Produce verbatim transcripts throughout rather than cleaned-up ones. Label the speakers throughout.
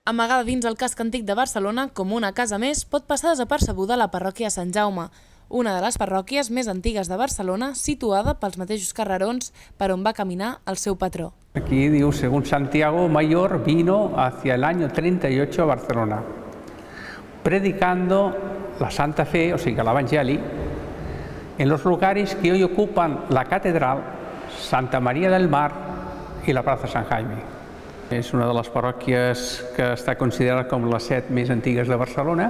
Speaker 1: Amagada dins el casc antic de Barcelona, com una casa més, pot passar desapercebuda la parròquia Sant Jaume, una de les parròquies més antigues de Barcelona, situada pels mateixos carrerons per on va caminar el seu patró.
Speaker 2: Aquí diu, según Santiago Mayor, vino hacia el año treinta y ocho a Barcelona, predicando la Santa Fe, o sigui, l'Evangeli, en los lugares que hoy ocupan la Catedral, Santa María del Mar i la Plaza San Jaime. És una de les parròquies que està considerada com les set més antigues de Barcelona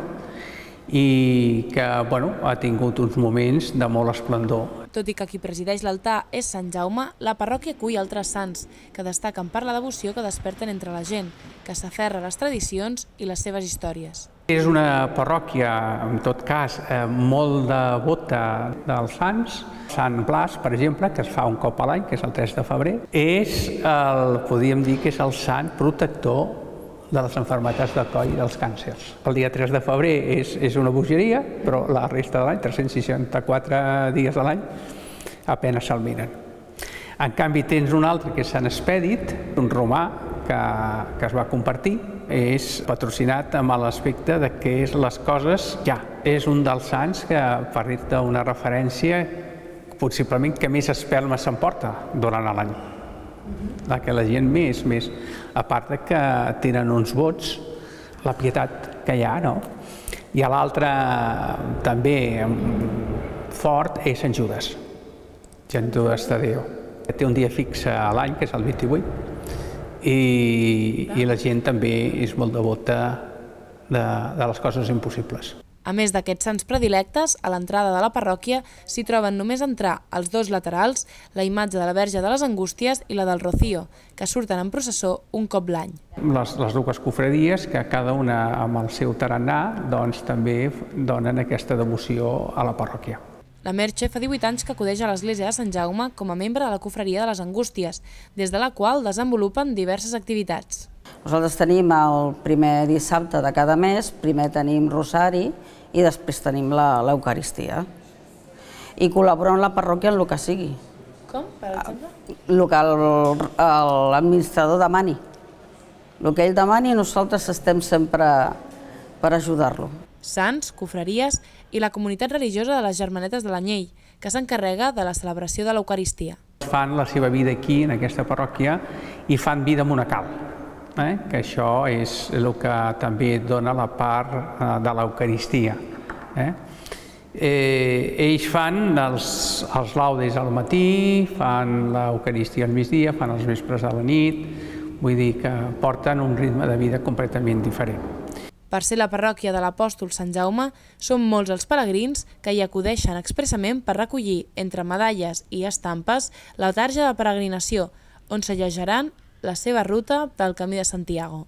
Speaker 2: i que bueno, ha tingut uns moments de molt esplendor.
Speaker 1: Tot i que qui presideix l'altar és Sant Jaume, la parròquia acull altres sants que destaquen per la devoció que desperten entre la gent, que s'aferra a les tradicions i les seves històries.
Speaker 2: És una parròquia, en tot cas, molt devota dels sants. Sant Blas, per exemple, que es fa un cop a l'any, que és el tres de febrer, és el, podríem dir que és el sant protector de les malalties del coll i dels càncers. El dia tres de febrer és, és una bogeria, però la resta de l'any, tres-cents seixanta-quatre dies de l'any, apenas se'l miren. En canvi, tens un altre que és Sant Expedit, un romà que, que es va compartir, és patrocinat amb l'aspecte de que és les coses ja. És un dels sants que, per dir-te una referència, possiblement que més espelma s'emporta durant l'any. La que la gent més, més, a part de que tenen uns vots, la pietat que hi ha, no? I l'altre també fort és Sant Judes, Sant Judes Tadeu. Té un dia fixe a l'any, que és el vint-i-vuit, i, i la gent també és molt devota de, de les coses impossibles.
Speaker 1: A més d'aquests sants predilectes, a l'entrada de la parròquia s'hi troben només entrar als dos laterals la imatge de la Verge de les Angústies i la del Rocío, que surten en processó un cop l'any.
Speaker 2: Les, les dues cofradies, que cada una amb el seu tarannà, doncs també donen aquesta devoció a la parròquia.
Speaker 1: La Merche fa divuit anys que acudeix a l'església de Sant Jaume com a membre de la cofreria de les Angústies, des de la qual desenvolupen diverses activitats.
Speaker 3: Nosaltres tenim el primer dissabte de cada mes, primer tenim rosari i després tenim l'Eucaristia. I col·laborem amb la parròquia en el que sigui.
Speaker 1: Com, per exemple?
Speaker 3: El que l'administrador demani. El que ell demani, nosaltres estem sempre per ajudar-lo.
Speaker 1: Sants, cofreries i la comunitat religiosa de les Germanetes de l'Anyell, que s'encarrega de la celebració de l'Eucaristia.
Speaker 2: Fan la seva vida aquí, en aquesta parròquia, i fan vida monacal, eh? que això és el que també dona la part de l'Eucaristia. Eh? Eh, ells fan els, els laudes al matí, fan l'Eucaristia al migdia, fan els vespres a la nit, vull dir que porten un ritme de vida completament diferent.
Speaker 1: Per ser la parròquia de l'Apòstol Sant Jaume, són molts els pelegrins que hi acudeixen expressament per recollir, entre medalles i estampes, la tarja de peregrinació, on s'allejaran la seva ruta del Camí de Santiago.